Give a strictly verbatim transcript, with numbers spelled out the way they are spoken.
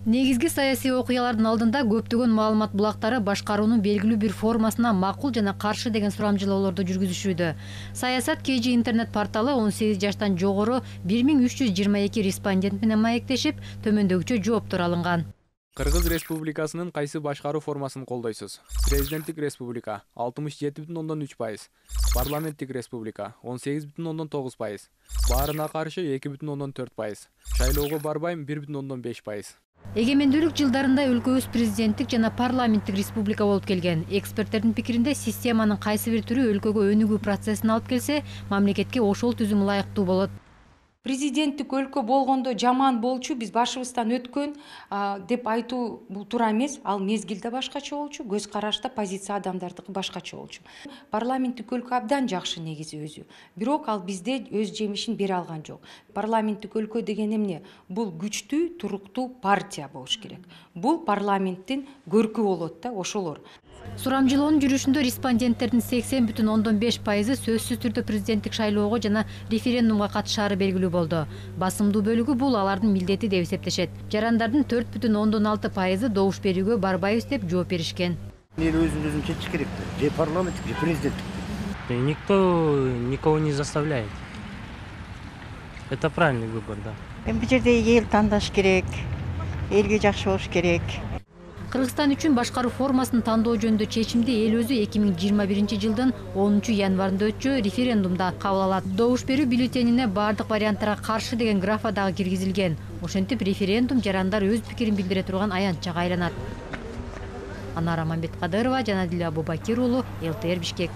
Негизги саясий окуялардын алдында көптөгөн маалымат булактары башкаруунун белгилүү бир формасына макул жана каршы деген сурамжылоолорду жүргүзүшүүдө. Саясат кей жи интернет порталы он сегиз жаштан жогору бир миң үч жүз жыйырма эки респондент менен маектешип, төмөндөгүчө жооптор алынган. Кыргыз Республикасынын кайсы башкаруу формасын колдойсуз? Президенттик республика алтымыш жети бүтүн ондон үч пайыз, парламенттик республика он сегиз бүтүн ондон тогуз пайыз, баарына каршы эки бүтүн ондон төрт пайыз, шайлоого барбайм бир бүтүн ондон беш пайыз. Эгемендүүлүк жылдарында өлкөбүз президенттик жана парламенттик республика болуп келген. Эксперттердин пикиринде системанын кайсы бир түрү өлкөгө өнүгүү процессин алып келсе, мамлекетке ошол түзүм ылайыктуу болот. Президенттик өлкө болгондо жаман болчу, биз башыбыздан өткөн деп айтуу бул туура эмес. Ал мезгилде башкача болчу, көз карашта позиция адамдардыкы башкача болчу. Парламенттик өлкө абдан жакшы негизи өзү. Бирок ал бизде өз жемишин бере алган жок. Парламенттик өлкө деген эмне? Бул күчтүү, туруктуу партия болуш керек. Бул парламенттин көркү болот да, ошолор. Сурамжылоонун жүрүшүндө респонденттердин сексен бүтүн ондон беш пайызы сөзсүз түрдө президенттик шайлоого жана референдумга катышаары белгилүү болду. Басымдуу бөлүгү бул алардын милдети деп эсептешет. Жарандардын төрт бүтүн ондон алты пайызы добуш берүүгө барбайбыз деп жооп беришкен. Эл өзүн өзүн чечиш керек. Же парламенттик, же президенттик. Никто никого не заставляет. Это правильный выбор, да. Бул жерде эл тандаш керек, элге жакшы болуш керек. Кыргызстан үчүн башкаруу формасын тандоо жөнүндө чечимди эл өзү эки миң жыйырма биринчи жылдын онунчу январында өтчү референдумда кабыл алат. Добуш берүү бюллетенине бардык варианттарга каршы деген графа дагы киргизилген. Ошентип референдум жарандар өз пикирин билдире турган аянтчага айланат. Анара Мамбеткадырова, Жанадил Абубакир уулу, эл тэ эр Бишкек.